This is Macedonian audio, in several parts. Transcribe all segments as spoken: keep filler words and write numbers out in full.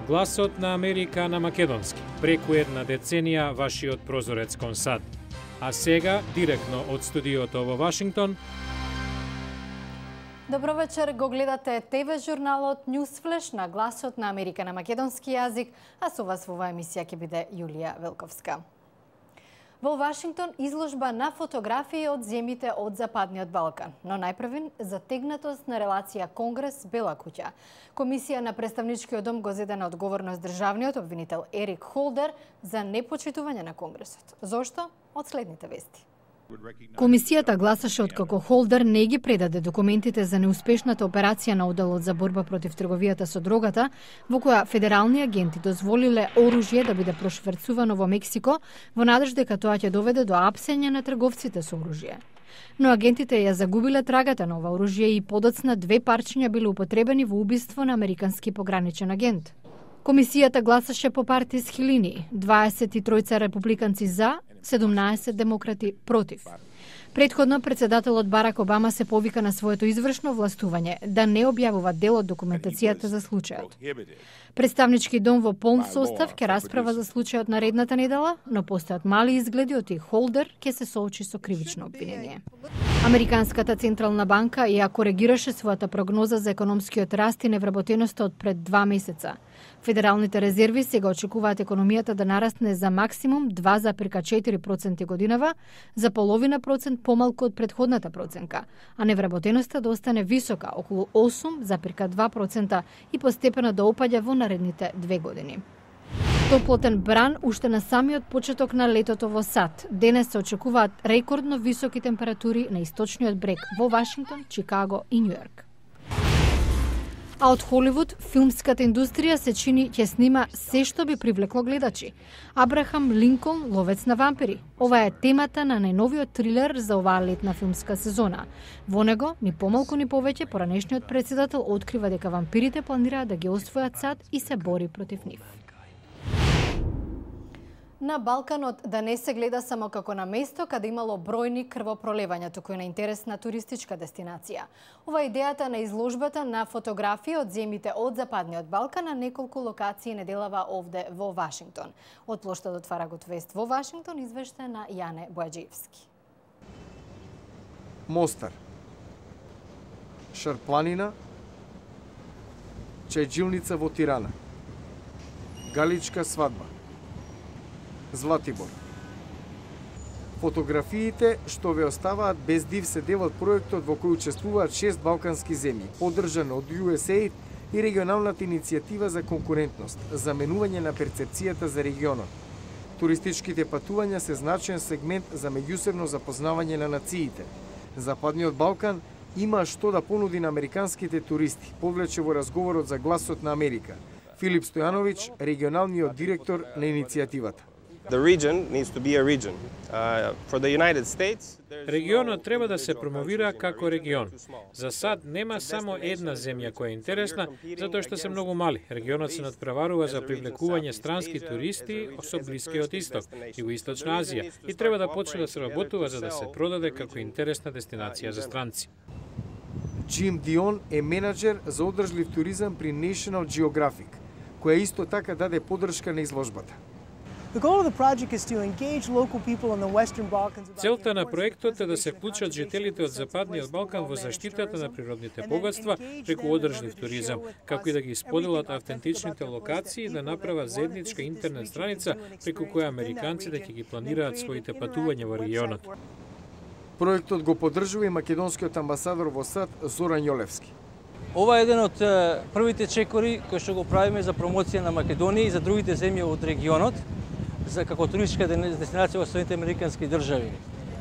Гласот на Америка на македонски. Преку една деценија вашиот прозорец кон САД. А сега, директно од студиото во Вашингтон. Добро вечер, го гледате ТВ журналот News Flash на Гласот на Америка на македонски јазик, а со вас во оваа емисија ќе биде Јулија Велковска. Во Вашингтон изложба на фотографии од земјите од Западниот Балкан, но најпрвен затегнатост на релација Конгрес-Бела куќа. Комисија на Представничкиот дом го зеде на одговорност државниот обвинител Ерик Холдер за непочитување на Конгресот. Зошто? Од следните вести. Комисијата гласаше откако Холдер не ги предаде документите за неуспешната операција на Оделот за борба против трговијата со дрогата, во која федерални агенти дозволиле оружје да биде прошверцувано во Мексико во надеж дека тоа ќе доведе до апсење на трговците со оружје. Но агентите ја загубиле трагата на ова оружје и подоцна две парчиња биле употребени во убиство на американски пограничен агент. Комисијата гласаше по партиски линии, дваесет и тројца републиканци за, седумнаесет демократи против. Предходно, председателот Барак Обама се повика на своето извршно властување да не објавува дел од документацијата за случајот. Представнички дом во полн состав ќе расправа за случајот наредната недела, но постојат мали изгледи од и Холдер ќе се соочи со кривично обвинение. Американската централна банка ја коригираше својата прогноза за економскиот раст и невработеноста од пред два месеца. Федералните резерви сега очекуваат економијата да нарасне за максимум два запирка четири проценти годинава, за половина процент помалку од претходната проценка, а невработеноста да остане висока, околу осум запирка два процента и постепено да опаѓа во наредните две години. Топлотен бран уште на самиот почеток на летото во САД. Денес се очекуваат рекордно високи температури на источниот брег во Вашингтон, Чикаго и Њујорк. А од Холивуд, филмската индустрија се чини ќе снима се што би привлекло гледачи. Абрахам Линколн, ловец на вампири. Ова е темата на најновиот трилер за оваа летна филмска сезона. Во него, ни помалку ни повеќе, поранешниот председател открива дека вампирите планираат да ги освојат САД и се бори против нив. На Балканот да не се гледа само како на место каде имало бројни крвопролевања, туку и на интересна туристичка дестинација. Ова е идејата на изложбата на фотографии од земјите од Западниот Балкан на неколку локации неделава овде во Вашингтон. Од плоштадот Фарагут Вест во Вашингтон извешта на Јане Бојаджиевски. Мостар, Шарпланина, Чајджилница во Тирана, Галичка свадба, Златибор. Фотографиите што ве оставаат без див се дел од проектот во кој учествуваат шест балкански земји, поддржан од ю ес ей и регионалната иницијатива за конкурентност, заменување на перцепцијата за регионот. Туристичките патувања се значаен сегмент за меѓусебно запознавање на нациите. Западниот Балкан има што да понуди на американските туристи, повлече во разговорот за Гласот на Америка. Филип Стојановиќ, регионалниот директор на иницијативата. Регионот треба да се промовира како регион. За САД нема само една земја која е интересна, затоа што се многу мали. Регионот се надпреварува за привлекување странски туристи со Блискиот Исток, Југоисточна Азија, и треба да почне да се работува за да се продаде како интересна дестинација за странци. Джим Дион е менаџер за одржлив туризам при National Geographic, која исто така даде поддршка на изложбата. Целта на проектот е да се вклучат жителите од Западниот Балкан во заштитата на природните богатства преку одржлив туризам, како и да ги споделат автентичните локации и да направат заедничка интернет страница преку која американците ќе ги планираат своите патувања во регионот. Проектот го поддржува и македонскиот амбасадор во САД Зоран Јолевски. Ова е еден од првите чекори кои што го правиме за промоција на Македонија и за другите земји од регионот, за како туристичка дестинација во Соединетите американски држави.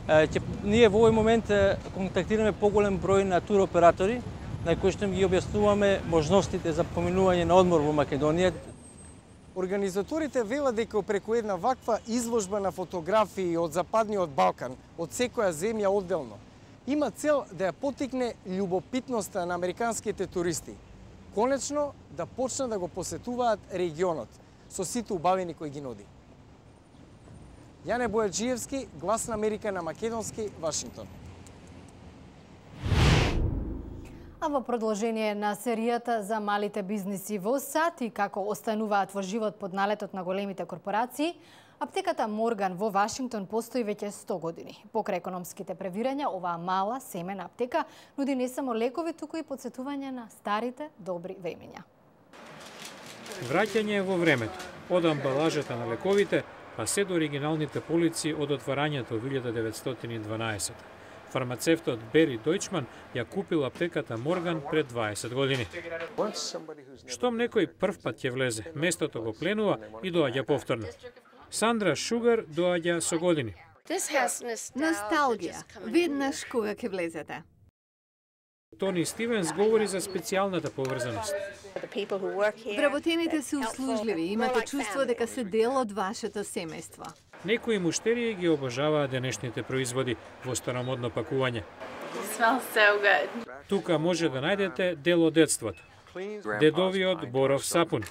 Ќе, ние во овој момент контактираме поголем број на туроператори, на кои што ги објаснуваме можностите за поминување на одмор во Македонија. Организаторите велат дека преку една ваква изложба на фотографии од Западниот Балкан, од секоја земја одделно, има цел да ја поттикне љубопитноста на американските туристи. Конечно, да почнат да го посетуваат регионот со сите убавини кои ги нуди. Јане Бојаджиевски, Глас на Америка на македонски, Вашингтон. А во продолжение на серијата за малите бизниси во САД и како остануваат во живот под налетот на големите корпорации, аптеката Морган во Вашингтон постои веќе сто години. Покрај економските превирања, оваа мала семена аптека нуди не само лекови, туку и потсетување на старите добри времења. Враќање во времето, од амбалажата на лековите, па се до оригиналните полици од отварањето во илјада деветстотини и дванаесет. Фармацевтот Бери Дојчман ја купил аптеката Морган пред дваесет години. Штом некој прв пат ќе влезе, местото го пленува и доаѓа повторно. Сандра Шугар доаѓа со години. Носталгија, веднаш кога ќе влезете. Тони Стивенс говори за специјалната поврзаност. Вработените се услужливи, имате чувство дека се дел од вашето семејство. Некои муштерии ги обожаваат денешните производи во старомодно пакување. Тука може да најдете дел од детството. Дедовиот боров сапун.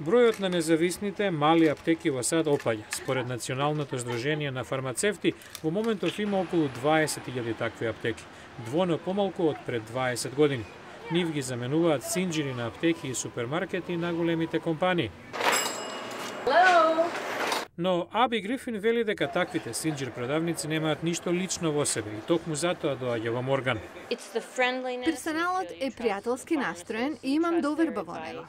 Бројот на независните мали аптеки во САД опаѓа. Според Националното здружение на фармацевти, во моментов има околу дваесет илјади такви аптеки, двојно помалку од пред дваесет години. Нив ги заменуваат синџири на аптеки и супермаркети на големите компании. Но Аби Грифин вели дека таквите синџир продавници немаат ништо лично во себе и токму затоа доаѓа во Морган. Персоналот е пријателски настроен и имам доверба во него.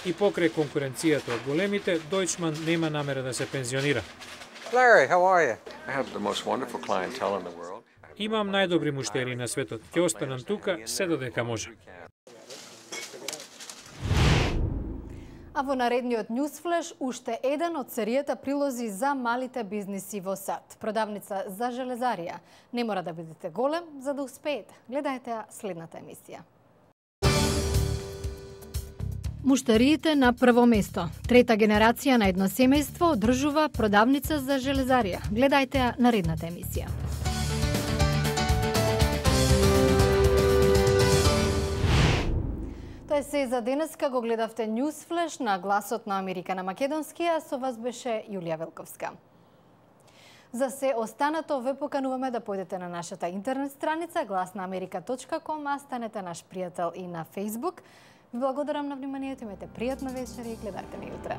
И покрај конкуренцијата од големите, Дојчман нема намера да се пензионира. Larry, how are you? I have the most wonderful clientele in the world. Имам најдобри муштери на светот. Ќе останам тука се додека може. А во наредниот Newsflash уште еден од серијата прилози за малите бизниси во САД. Продавница за железарија. Не мора да бидете голем за да успеете. Гледајте следната емисија. Муштариите на прво место. Трета генерација на едно семејство одржува продавница за железарија. Гледајте ја наредната емисија. Тоа е се за денеска. Го гледавте Newsflash на Гласот на Америка на македонски, а со вас беше Јулија Велковска. За се останато ве покануваме да појдете на нашата интернет страница глас на америка точка ком, а станете наш пријател и на Facebook. Ви благодарам на вниманието, имате пријатна вечер и гледате ме утре.